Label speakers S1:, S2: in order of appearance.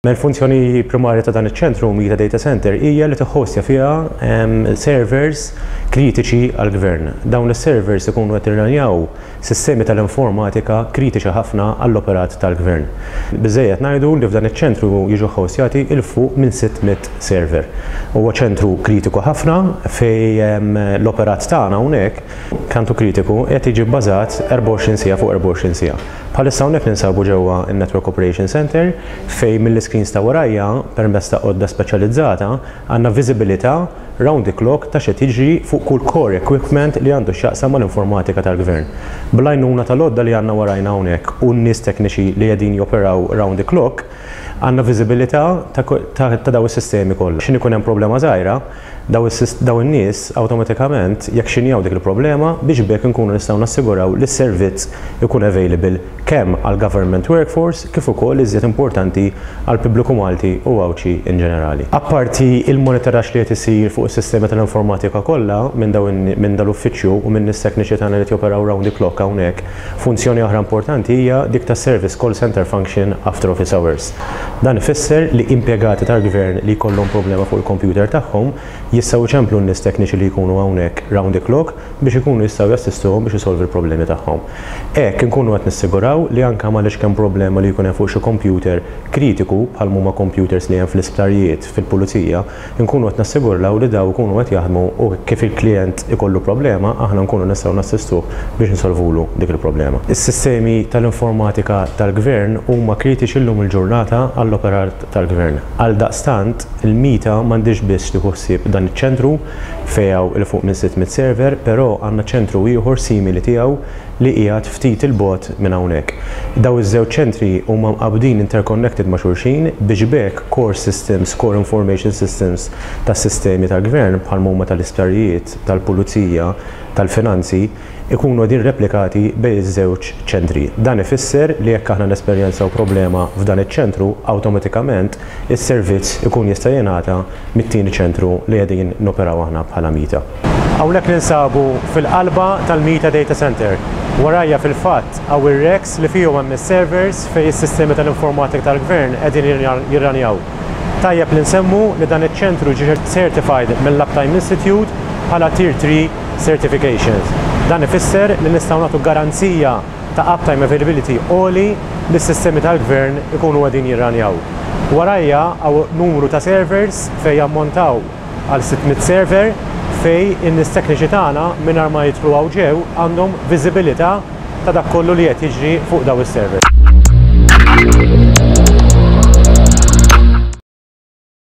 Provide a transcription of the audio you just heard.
S1: Il-funzjoni primarja ta' dan iċ-ċentru Mita Data Center hija li tiħħostja fiha servers kritiċi għall-gvern. Dawn is-servers ikunu qed jirranjaw sistemi tal-informatika kritiċi ħafna għall-operat tal-gvern. Biżżejjed ngħidu li f'dan iċ-ċentru jiġu ħħostjati 'il fuq minn 600 server. Huwa ċentru kritiku ħafna fejn l-operat tagħna hawnhekk, kantu kritiku, qed jiġi bbażat 24 siegħa fuq 24 siegħa. Bħalissa hawnhekk ninsabu ġewwa n-Network Operation Centre fejn mill-iscreens ta' warajja, permezz ta' għodda speċjalizzata, għandna viżibilità round the clock ta' x'qed jiġri fuq kull core equipment li għandu x'jaqsam mal-informatika tal-Gvern. Bl-għajnuna tal-għodda li għandna warajna hawnhekk u n-nies tekniċi li qegħdin joperaw round the clock, għandna viżibilità ta' dawn is-sistemi kollha. X'ħin ikun hemm problema żgħira, dawn in-nies awtomatikament jaxxinjaw dik il-problema biex b'hekk inkunu nistgħu nassiguraw li s-servizz ikun available kemm għall-government workforce kif ukoll, iżjed importanti, għall-pubbliku Malti u Għawdxi in ġenerali. Apparti il-monitoraġġ li qed isir fuq is-sistemi tal-informatika kollha minn dawn minn dal-uffiċċju u minn nies tekniċi tagħna li qed joperaw round the clock hawnhekk, funzjoni oħra importanti hija dik tas-service call centre function after office hours. Dan ifisser li impjegati tal-Gvern li jkollhom problema fuq il-computer tagħhom jistgħu jċemplu n-nies tekniċi li jkunu hawnhekk round the clock biex ikunu jistgħu jassistuhom biex isolvi l-problemi tagħhom. Hekk inkunu qed nissiguraw li anke mal-iċken problema li jkun hemm fuq xi kompjuter kritiku bħal m'huma kompjuters li hemm fl-isptarijiet, fil-pulizija, inkunu qed nassigurlaw li dawn ikunu qed jaħdmu u kif il-klijent ikollu problema aħna nkunu nistgħu nassistuh biex insolvulu dik il-problema. Is-sistemi tal-informatika tal-Gvern huma kritiċi llum il-ġurnata għall-operat tal-Gvern. Għaldaqstant, il-MITA m'għandhiex biss tieħu ħsieb dan iċ-ċentru, fejn hawn 'il fuq minn 600 server, però għandna ċentru ieħor simili tiegħu li qiegħed ftit 'il bogħod minn hawnhekk. Dawn iż-żewġ ċentri huma mqabbdin interconnected ma' xulxin biex b'hekk core systems, core information systems tas-sistemi tal-Gvern bħal m'huma tal-isptarijiet, tal-pulizija, tal-finanzi, ikunu qegħdin replikati bejn iż-żewġ ċentri. Dan ifisser li jekk aħna nesperjenzaw problema f'dan iċ-ċentru, awtomatikament is-servizz ikun jista' jingħata mit-tieni ċentru li qegħdin noperaw aħna bħala MITA. Hawnhekk ninsabu fil-qalba tal-MITA Data Centre. Warajja fil-fatt hawn ir-racks li fihom hemm is-servers fejn is-sistemi tal-informatika tal-Gvern qegħdin jirranjaw. Tajjeb li nsemmu li dan iċ-ċentru ġie certified mill-Uptime Institute bħala Tier 3 Certifications. Dan ifisser li nistgħu nagħtu garanzija ta' uptime availability għoli li s-sistemi tal-Gvern ikunu qegħdin jirranjaw. Warajja hawn numru ta' servers fejn jammontaw għal 600 server fejn in-nies tekniċi tagħna mingħajr ma jidħlu hawn ġew għandhom viżibilità ta' dak kollu li qed jiġri fuq dawn is-servers.